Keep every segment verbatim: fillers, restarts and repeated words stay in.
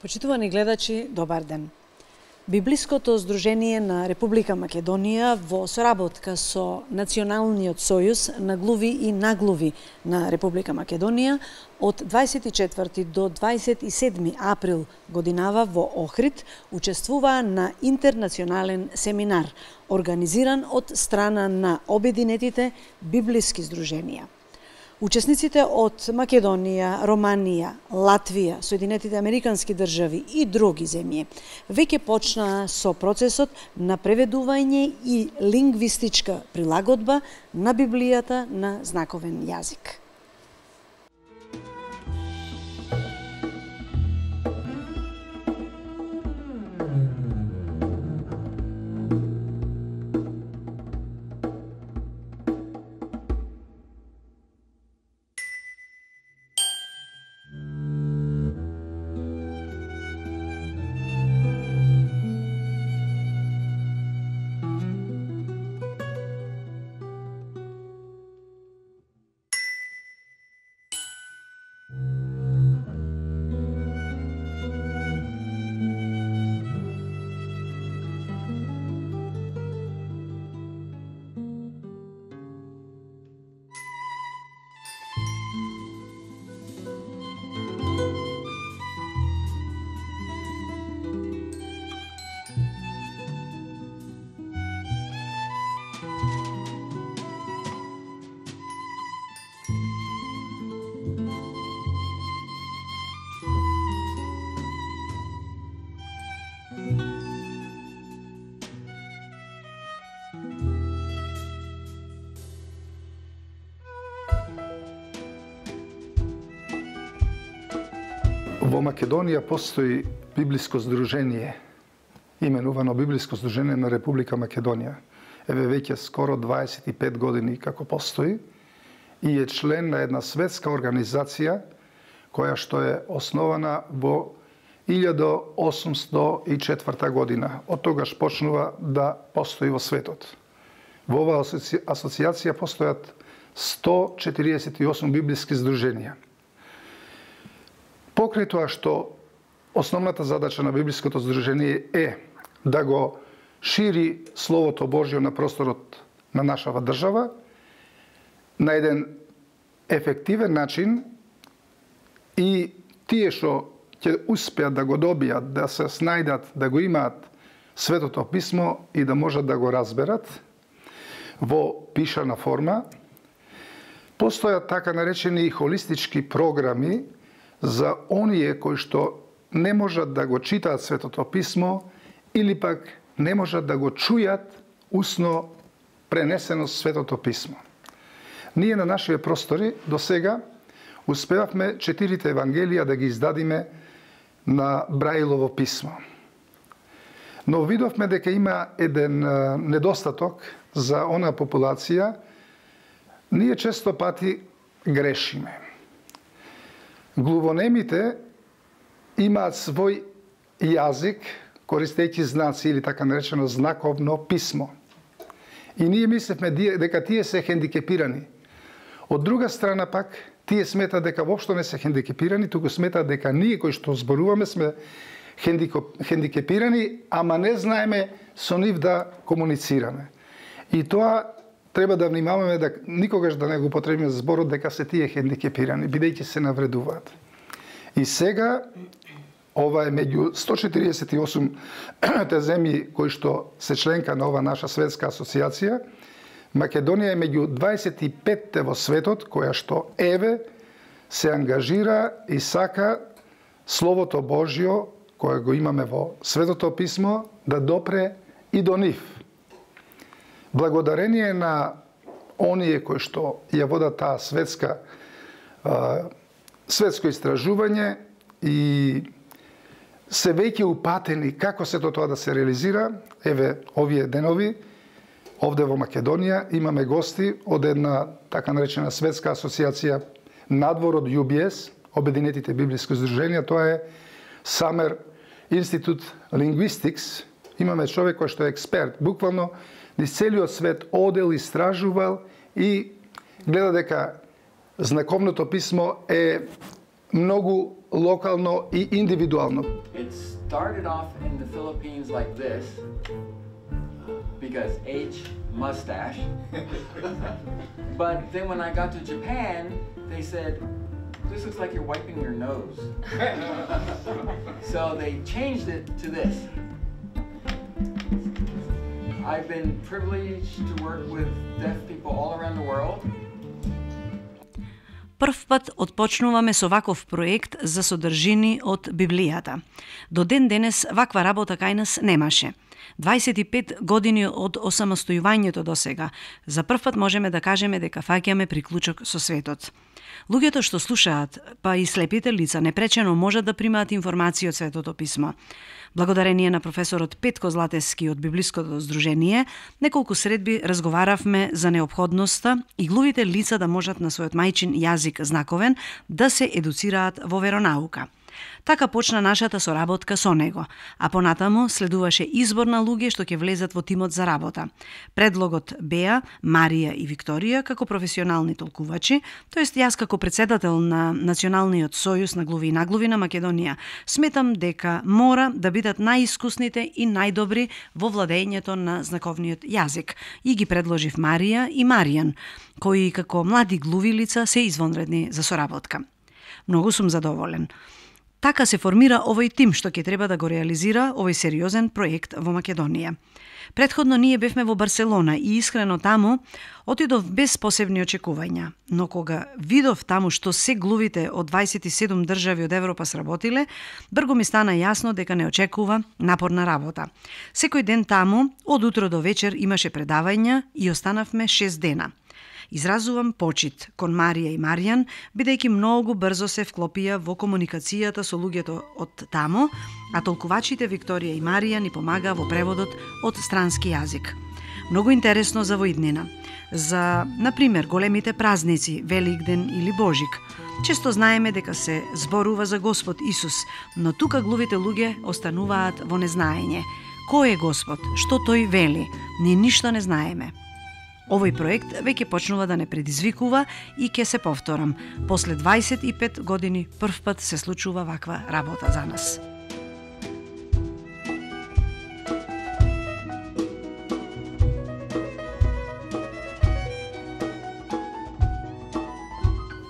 Почитувани гледачи, добар ден. Библиското здружение на Република Македонија во соработка со Националниот сојуз на глуви и наглуви на Република Македонија од дваесет и четврти до дваесет и седми април годинава во Охрид учествуваа на интернационален семинар организиран од страна на обединетите библиски здруженија. Учесниците од Македонија, Романија, Латвија, Соединетите Американски држави и други земји веќе почнаа со процесот на преведување и лингвистичка прилагодба на Библијата на знаковен јазик. Во Македонија постои библиско здружение, именувано Библиско здружение на Република Македонија. Еве веќе скоро дваесет и пет години како постои и е член на една светска организација која што е основана во илјада осумстото и четврта година. Од тогаш почнува да постои во светот. Во оваа асоциација постојат сто четириесет и осум библиски здруженија. Покрај тоа што основната задача на библиското здружение е да го шири Словото Божјо на просторот на нашава држава на еден ефективен начин и тие што ќе успеат да го добијат, да се снајдат, да го имаат Светото писмо и да можат да го разберат во пишана форма, постојат така наречени холистички програми за оние кои што не можат да го читаат Светото писмо или пак не можат да го чујат усно пренесено Светото писмо. Ние на нашите простори до сега успевавме четирите евангелија да ги издадиме на Браилово писмо. Но видовме дека има еден недостаток за онаа популација. Ние често пати грешиме. Глувонемите имаат свој јазик, користејќи знаци или така наречено знаковно писмо. И ние мислевме дека тие се хендикепирани. Од друга страна пак, тие сметаат дека воопшто не се хендикепирани, туку сметаат дека ние кои што зборуваме сме хендикепирани, ама не знаеме со нив да комуницираме. И тоа треба да внимаваме да никогаш да не го употребиме зборот дека се тие хендикепирани, бидејќи се навредуваат. И сега, ова е меѓу сто четириесет и осум те земји кои што се членка на ова наша светска асоциација, Македонија е меѓу дваесет и петте во светот која што еве се ангажира и сака Словото Божјо кое го имаме во Светото писмо да допре и до нив. Благодарение на оние кои што ја водат таа светска светско истражување и се веќе упатени како сето тоа да се реализира, еве овие денови овде во Македонија имаме гости од една така наречена светска асоциација надвор од Ю Би Ес, Обединетите библиски здруженија, тоа е Самер Институт Linguistics. Имаме човек кој што е експерт, буквално низ целиот свет одел, истражувал и гледа дека знаковното писмо е многу локално и индивидуално. It started off in the Philippines like this, because H, mustache. But then when I got to Japan, they said, this looks like you're wiping your nose. So they changed it to this. I've been privileged to work with deaf people all around the world. Прв пат отпочнуваме со ваков проект за содржини од Библијата. До ден денес ваква работа кај нас немаше. дваесет и пет години од осамостојувањето до сега, за прв пат можеме да кажеме дека фаќаме приклучок со светот. Луѓето што слушаат, па и слепите лица, непречено можат да примаат информации од Светото писмо. Благодарение на професорот Петко Златевски од Библиското здружение, неколку средби разговаравме за неопходноста и глувите лица да можат на својот мајчин јазик знаковен да се едуцираат во веронаука. Така почна нашата соработка со него, а понатаму следуваше избор на луѓе што ќе влезат во тимот за работа. Предлогот беа Марија и Викторија како професионални толкувачи, тоест јас како председател на Националниот сојуз на глуви и наглуви на Македонија, сметам дека мора да бидат најискусните и најдобри во владењето на знаковниот јазик и ги предложив Марија и Маријан, кои како млади глуви лица се извонредни за соработка. Многу сум задоволен. Така се формира овој тим што ќе треба да го реализира овој сериозен проект во Македонија. Претходно ние бевме во Барселона и искрено таму отидов без посебни очекувања, но кога видов таму што се глувите од дваесет и седум држави од Европа сработиле, брзо ми стана јасно дека не очекува напорна работа. Секој ден таму, од утро до вечер имаше предавања и останавме шест дена. Изразувам почит кон Марија и Маријан, бидејќи многу брзо се вклопија во комуникацијата со луѓето од таму, а толкувачите Викторија и Марија ни помага во преводот од странски јазик. Многу интересно за воиднина. За, например, големите празници, Великден или Божик. Често знаеме дека се зборува за Господ Исус, но тука глувите луѓе остануваат во незнаење. Кој е Господ? Што тој вели? Ние ништо не знаеме. Овој проект веќе почнува да не предизвикува и ќе се повторам. После дваесет и пет години прв пат се случува ваква работа за нас.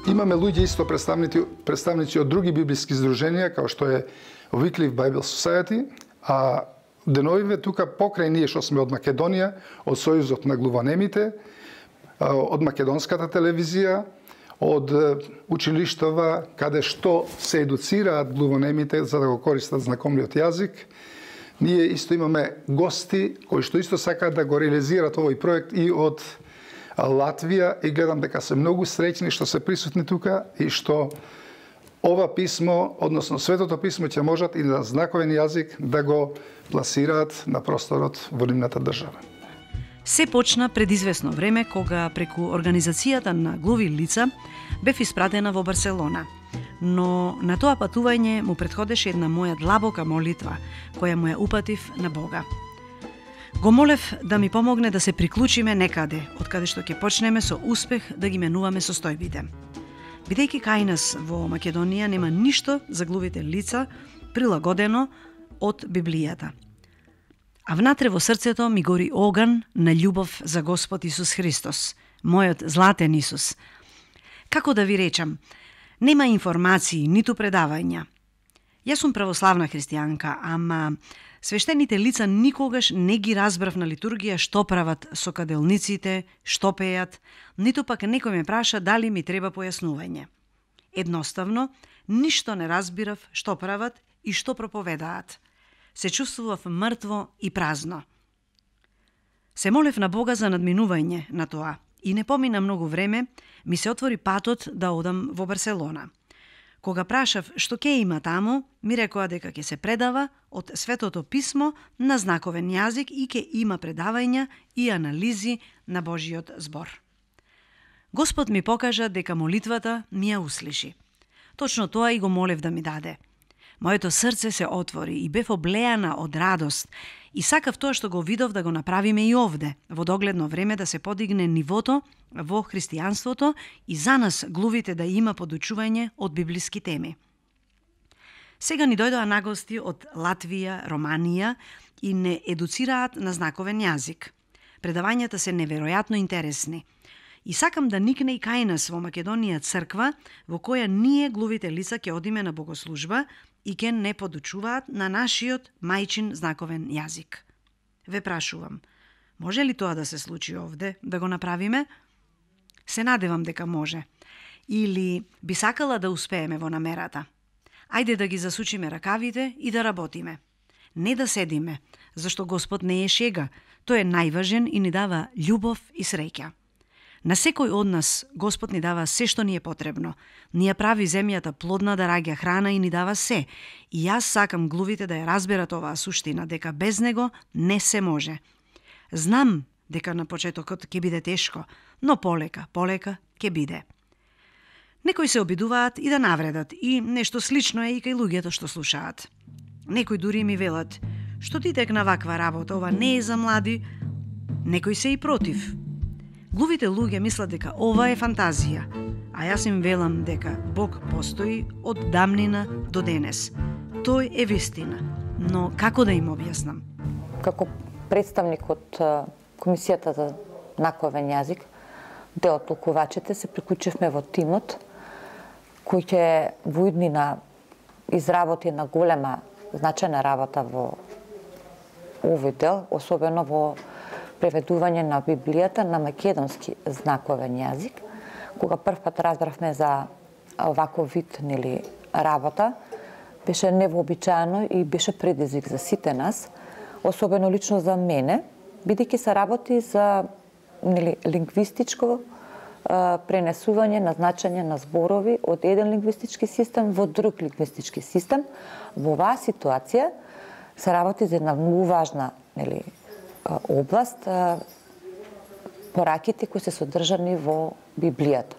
Имаме луѓе исто представници, представници од други библиски здруженија, како што е Wycliffe Bible Society, а деновиве тука покрај ние што сме од Македонија, од Сојузот на глуванемите, од македонската телевизија, од училиштава каде што се едуцираат глуванемите за да го користат знаковниот јазик. Ние исто имаме гости кои што исто сакаат да го реализираат овој проект и од Латвија и гледам дека се многу среќни што се присутни тука и што ова писмо, односно Светото писмо ќе можат и на знаковен јазик да го пласираат на просторот во нивната држава. Се почна пред известно време кога преку организацијата на глуви лица бев испратена во Барселона. Но на тоа патување му претходеше една моја длабока молитва, која му ја упатив на Бога. Го молев да ми помогне да се приклучиме некаде, од каде што ќе почнеме со успех да ги менуваме состојбите. Бидејќи кај нас во Македонија нема ништо за глувите лица прилагодено од Библијата. А внатре во срцето ми гори оган на љубов за Господ Исус Христос, мојот златен Исус. Како да ви речам, нема информации, ниту предавања. Јас сум православна христијанка, ама свештените лица никогаш не ги разбрав на литургија што прават со каделниците, што пеат, ниту пак некој ме праша дали ми треба појаснување. Едноставно, ништо не разбирав што прават и што проповедаат. Се чувствував мртво и празно. Се молев на Бога за надминување на тоа и не помина многу време, ми се отвори патот да одам во Барселона. Кога прашав што ќе има таму, ми рекоа дека ќе се предава од Светото писмо на знаковен јазик и ќе има предавања и анализи на Божиот збор. Господ ми покажа дека молитвата ми ја услиши. Точно тоа и го молев да ми даде. Моето срце се отвори и бев облеана од радост и сакав тоа што го видов да го направиме и овде, во догледно време да се подигне нивото во христијанството и за нас глувите да има подучување од библиски теми. Сега ни дојдоа нагости од Латвија, Романија и не едуцираат на знаковен јазик. Предавањата се неверојатно интересни. И сакам да никне и кај нас во Македонија црква во која ние глувите лица ќе одиме на богослужба и ќе не подучуваат на нашиот мајчин знаковен јазик. Ве прашувам, може ли тоа да се случи овде, да го направиме? Се надевам дека може. Или би сакала да успееме во намерата. Ајде да ги засучиме ракавите и да работиме. Не да седиме, зашто Господ не е шега. Тој е најважен и ни дава љубов и среќа. На секој од нас Господ ни дава се што ни е потребно. Ни ја прави земјата плодна да раѓа храна и ни дава се. И јас сакам глувите да ја разберат оваа суштина, дека без него не се може. Знам дека на почетокот ќе биде тешко, но полека, полека ќе биде. Некои се обидуваат и да навредат, и нешто слично е и кај луѓето што слушаат. Некои дури ми велат, што ти текна ваква работа, ова не е за млади. Некои се и против. Глувите луѓе мислат дека ова е фантазија, а јас им велам дека Бог постои од дамнина до денес. Тој е вистина, но како да им објаснам? Како представник од Комисијата за знаковен јазик, дел од толкувачите, се приклучивме во тимот кој ќе во иднина изработи на голема значајна работа во овој дел, особено во преведување на Библијата на македонски знаковен јазик. Кога првпат разбравме за оваков вид нели работа, беше невообичаено и беше предизвик за сите нас, особено лично за мене, бидејќи се работи за нели лингвистичко а, пренесување на значење на зборови од еден лингвистички систем во друг лингвистички систем. Во оваа ситуација се работи за една многу важна нели област, пораките кои се содржани во Библијата.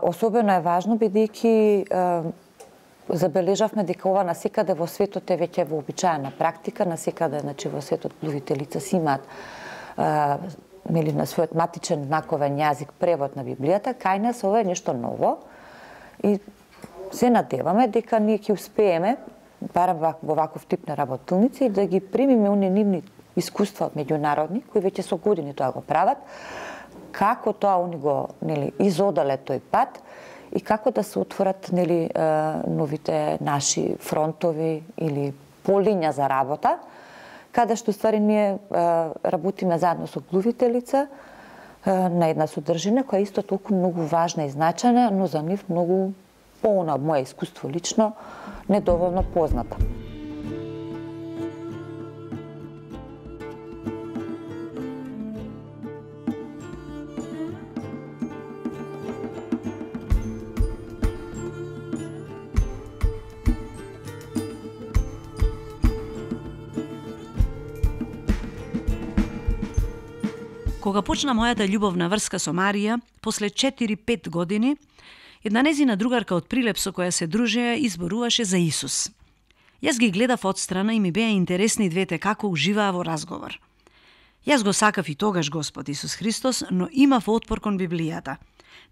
Особено е важно бидејќи забележавме дека ова насекаде во светот е веќе вообичаена практика, насекаде значи во светот глувите лица си имаат нели на својот матичен знаковен јазик превод на Библијата, кај нас ова е нешто ново и се надеваме дека ние ќе успееме барем во ваков тип на работилници да ги примиме оние нивни искуства меѓународни кои веќе со години тоа го прават, како тоа они го нели изодале тој пат и како да се отворат нели новите наши фронтови или полиња за работа, каде што ствари ние работиме заедно со глувите лица на една содржина која е исто толку многу важна и значајна, но за нив многу полна од моје искуство лично недоволно позната. Кога почна мојата љубовна врска со Марија, после четири-пет години, една незина другарка од Прилеп со која се дружеа изборуваше за Исус. Јас ги гледав отстрана и ми беа интересни двете како уживаа во разговор. Јас го сакав и тогаш Господ Исус Христос, но имав отпор кон Библијата.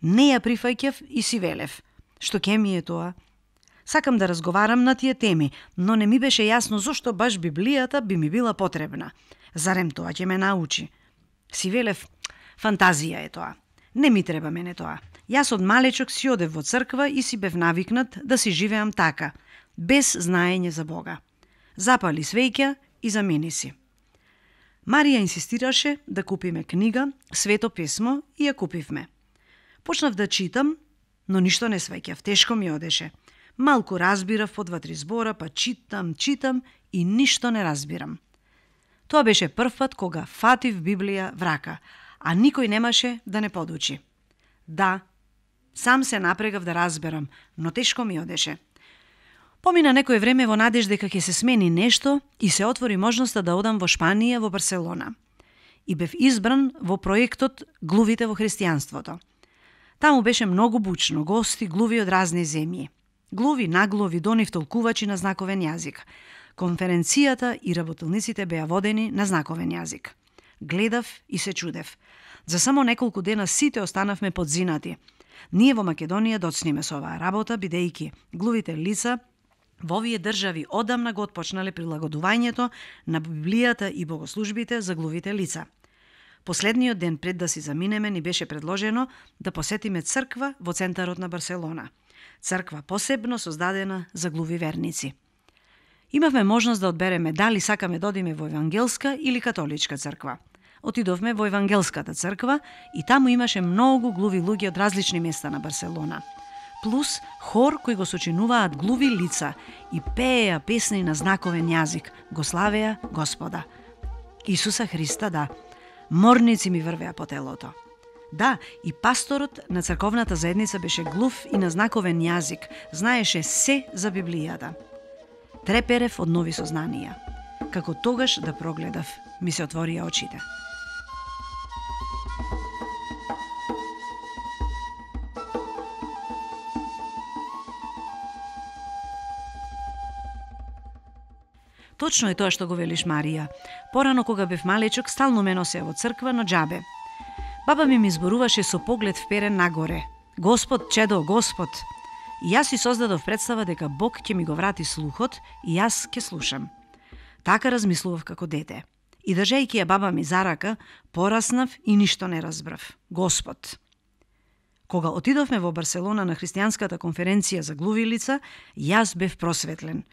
Не ја прифаќав и си велев. Што ке ми е тоа? Сакам да разговарам на тие теми, но не ми беше јасно зошто баш Библијата би ми била потребна. Зарем тоа ќе ме научи? Си велев, фантазија е тоа. Не ми треба мене тоа. Јас од малечок си одев во црква и си бев навикнат да си живеам така, без знаење за Бога. Запали свеќа и замени си. Марија инсистираше да купиме книга, Свето писмо и ја купивме. Почнав да читам, но ништо не свеќав, тешко ми одеше. Малку разбирав по два-три збора, па читам, читам и ништо не разбирам. Тоа беше прв пат кога фатив Библија в рака, а никој немаше да не подучи. Да, сам се напрегав да разберам, но тешко ми одеше. Помина некое време во надеж дека ќе се смени нешто и се отвори можноста да одам во Шпанија, во Барселона. И бев избран во проектот Глувите во христијанството. Таму беше многу бучно, гости, глуви од разни земји. Глуви, наглови, донив толкувачи на знаковен јазик. Конференцијата и работилниците беа водени на знаковен јазик. Гледав и се чудев. За само неколку дена сите останавме подзинати. Ние во Македонија доцниме со оваа работа, бидејќи глувите лица во овие држави одамна го отпочнале прилагодувањето на Библијата и богослужбите за глувите лица. Последниот ден пред да си заминеме ни беше предложено да посетиме црква во центарот на Барселона. Црква посебно создадена за глуви верници. Имавме можност да одбереме дали сакаме да одиме во евангелска или католичка црква. Отидовме во евангелската црква и таму имаше многу глуви луѓе од различни места на Барселона. Плюс хор кои го сочинуваат глуви лица и пееа песни на знаковен јазик, го славеа Господа. Исуса Христа, да. Морници ми врвеа по телото. Да, и пасторот на црковната заедница беше глув и на знаковен јазик, знаеше се за Библијата. Треперев од нови сознанија. Како тогаш да прогледав, ми се отворија очите. Точно е тоа што го велиш, Марија. Порано кога бев малечок, стално ме носеа во црква, но џабе. Баба ми ми зборуваше со поглед вперен нагоре. Господ, чедо, Господ. И јас си создадов представа дека Бог ќе ми го врати слухот и јас ќе слушам. Така размислував како дете. И држејќи ја баба ми за рака, пораснав и ништо не разбрав. Господ. Кога отидовме во Барселона на христијанската конференција за глуви лица, јас бев просветлен.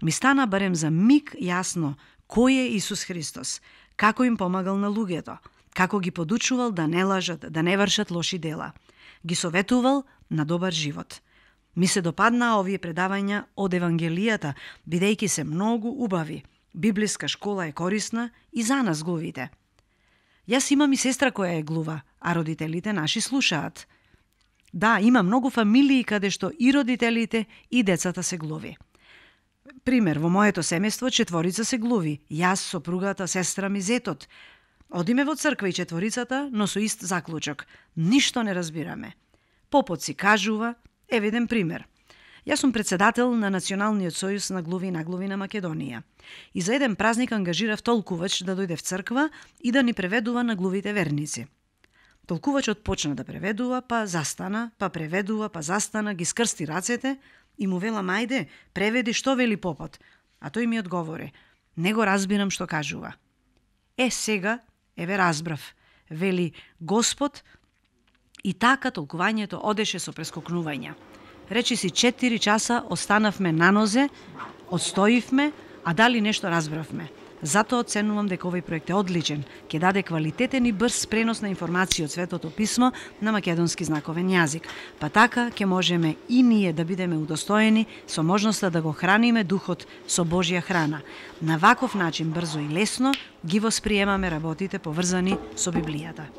Ми стана барем за миг јасно кој е Исус Христос, како им помагал на луѓето, како ги подучувал да не лажат, да не вршат лоши дела. Ги советувал на добар живот. Ми се допаднаа овие предавања од Евангелијата, бидејќи се многу убави. Библиска школа е корисна и за нас глувите. Јас имам и сестра која е глува, а родителите наши слушаат. Да, има многу фамилии каде што и родителите и децата се глуви. Пример, во моето семејство четворица се глуви, јас, сопругата, сестра ми, зетот. Одиме во црква и четворицата, но со ист заклучок. Ништо не разбираме. Попот си кажува, евиден пример. Јас сум председател на Националниот сојуз на глуви и наглуви на Македонија. И за еден празник ангажирав толкувач да дојде в црква и да ни преведува на глувите верници. Толкувачот почна да преведува, па застана, па преведува, па застана, ги скрсти рацете и му вела, мајде, преведи што вели попот. А тој ми одговори, не го разбирам што кажува. Е, сега, еве разбрав, вели Господ, и така толкувањето одеше со прескокнувања. Речи си четири часа останавме на нозе, одстоивме, а дали нешто разбравме. Затоа оценувам дека овој проект е одличен, ќе даде квалитетен и брз пренос на информации од Светото писмо на македонски знаковен јазик. Па така ќе можеме и ние да бидеме удостоени со можноста да го храниме духот со Божја храна. На ваков начин брзо и лесно ги восприемаме работите поврзани со Библијата.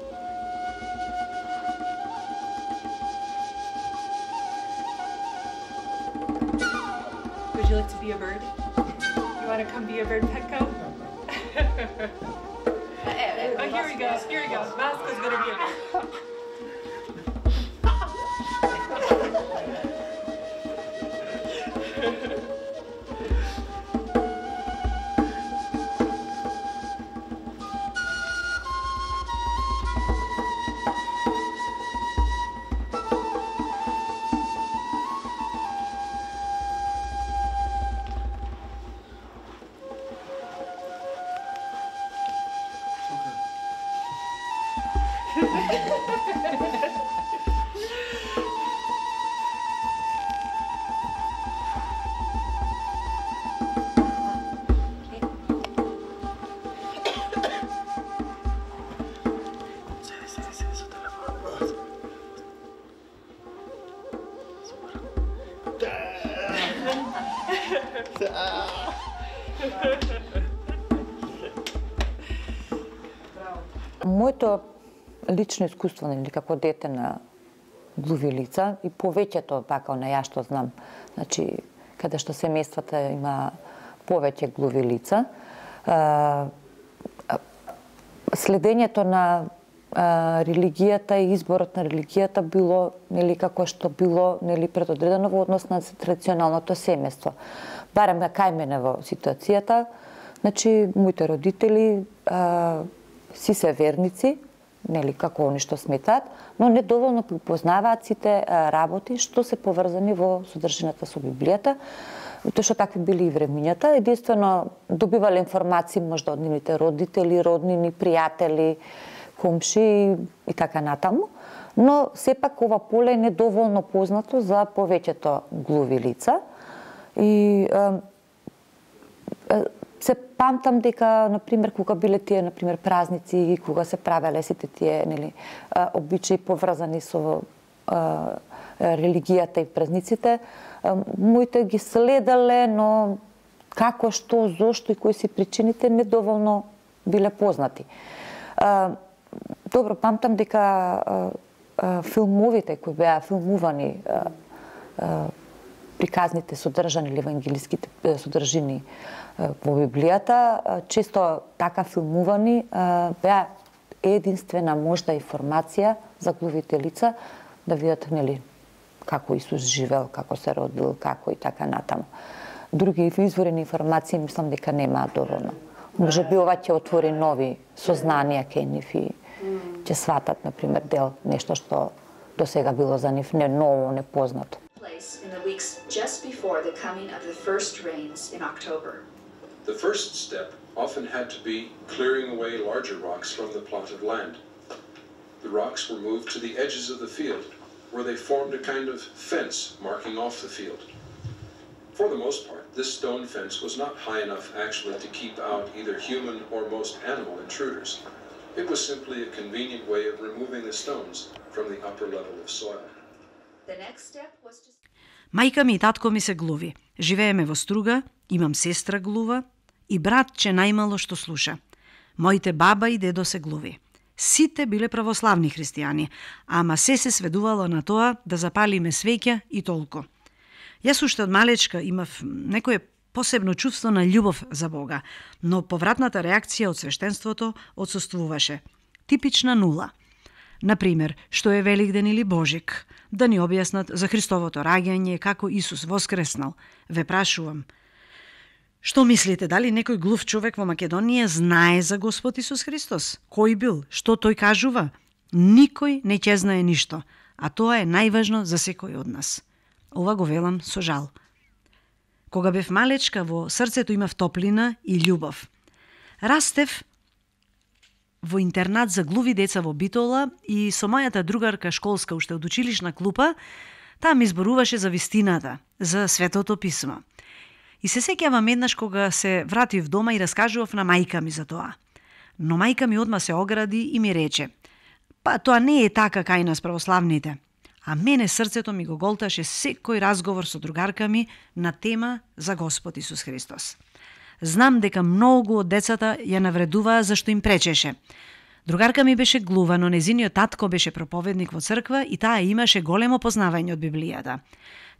Would you like to be a bird? You want to come be a bird, Petco? Oh, here we go. Here we go. Vasco's gonna be a bird. Моето лично искуство, нели, како дете на глуви лица и повеќето така на ја што знам, значи каде што семејствата има повеќе глуви лица, следењето на религијата и изборот на религијата било нели како што било нели предодредено во однос на традиционалното семејство. Барем на кај мене во ситуацијата, значи моите родители а, си се верници, нели како они што сметаат, но недоволно познаваат сите работи што се поврзани во содржината со Библијата. Тоа што такви били и времињата, единствено добивале информации можда од нивните родители, роднини, пријатели, комши и така натаму, но сепак ова поле е недоволно познато за повеќето глуви лица и е, е, се памтам дека, например, кога биле тие, например, празници, кога се правеле сите тие, нели, обичаи поврзани со а, религијата и празниците, а, моите ги следале, но како, што, зошто и кои си причините недоволно биле познати. А, добро, памтам дека а, а, филмовите кои беа филмувани, а, а, приказните содржани или евангелиските содржини во Библијата, често така филмувани, беа единствена можда информација за глувите лица да видат нели како Исус живел, како се родил, како и така натаму. Други изворени информации мислам дека немаат доволно. Може би ова ќе отвори нови сознанија кај нив и ќе сватат, например, дел нешто што до сега било за нив не ново, непознато. In the weeks just before the coming of the first rains in October. The first step often had to be clearing away larger rocks from the plot of land. The rocks were moved to the edges of the field, where they formed a kind of fence marking off the field. For the most part, this stone fence was not high enough actually to keep out either human or most animal intruders. It was simply a convenient way of removing the stones from the upper level of soil. The next step was to... Мајка ми и татко ми се глуви. Живееме во Струга, имам сестра глува и братче најмало што слуша. Моите баба и дедо се глуви. Сите биле православни христијани, ама се се сведувало на тоа да запалиме свеќа и толку. Јас уште од малечка имав некое посебно чувство на љубов за Бога, но повратната реакција од свештенството отсуствуваше. Типична нула. Например, што е Великден или Божик, да ни објаснат за Христовото раѓање, како Исус воскреснал. Ве прашувам, што мислите, дали некој глув човек во Македонија знае за Господ Исус Христос? Кој бил? Што тој кажува? Никој не ќе знае ништо, а тоа е најважно за секој од нас. Ова го велам со жал. Кога бев малечка, во срцето имав топлина и љубов. Растев во интернат за глуви деца во Битола и со мојата другарка школска уште од училишна клупа, таа ми зборуваше за вистината, за Светото писмо. И се сеќавам еднаш кога се вратив дома и раскажував на мајка ми за тоа. Но мајка ми одма се огради и ми рече: "Па тоа не е така кај нас православните." А мене срцето ми го голташе секој разговор со другарка ми на тема за Господ Исус Христос. Знам дека многу од децата ја навредуваа зашто им пречеше. Другарка ми беше глува, но незиниот татко беше проповедник во црква и таа имаше големо познавање од Библијата.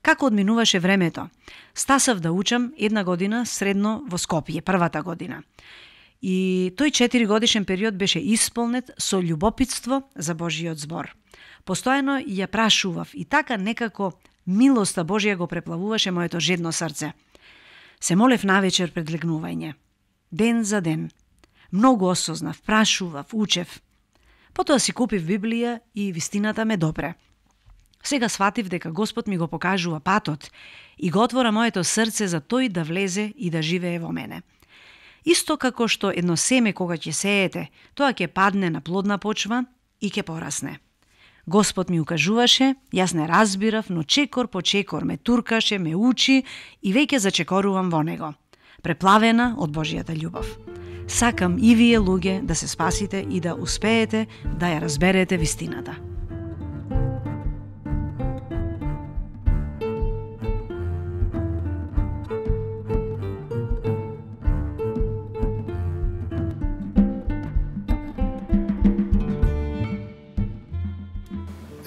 Како одминуваше времето? Стасав да учам една година средно во Скопје, првата година. И тој четиригодишен период беше исполнет со љубопитство за Божиот збор. Постојано ја прашував и така некако милоста Божија го преплавуваше моето жедно срце. Се молев навечер пред легнување. Ден за ден. Многу осознав, прашував, учев. Потоа си купив Библија и вистината ме допре. Сега сватив дека Господ ми го покажува патот и го отвора моето срце за тој да влезе и да живее во мене. Исто како што едно семе кога ќе сеете, тоа ќе падне на плодна почва и ќе порасне. Господ ми укажуваше, јас не разбирав, но чекор по чекор ме туркаше, ме учи и веќе зачекорувам во него, преплавена од Божијата љубов. Сакам и вие луѓе да се спасите и да успеете да ја разберете вистината.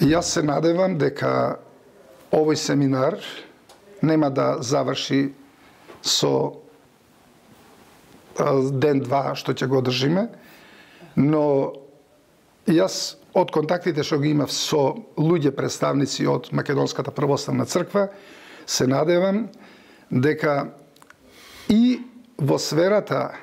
Јас се надевам дека овој семинар нема да заврши со ден-два што ќе го држиме, но Јас од контактите што ги имав со луѓе представници од Македонската православна црква, се надевам дека и во сферата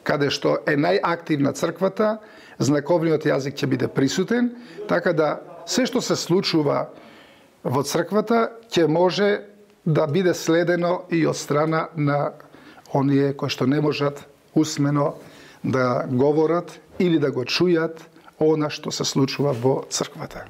каде што е најактивна црквата, знаковниот јазик ќе биде присутен, така да се што се случува во црквата ќе може да биде следено и од страна на оние кои што не можат усмено да говорат или да го чујат она што се случува во црквата.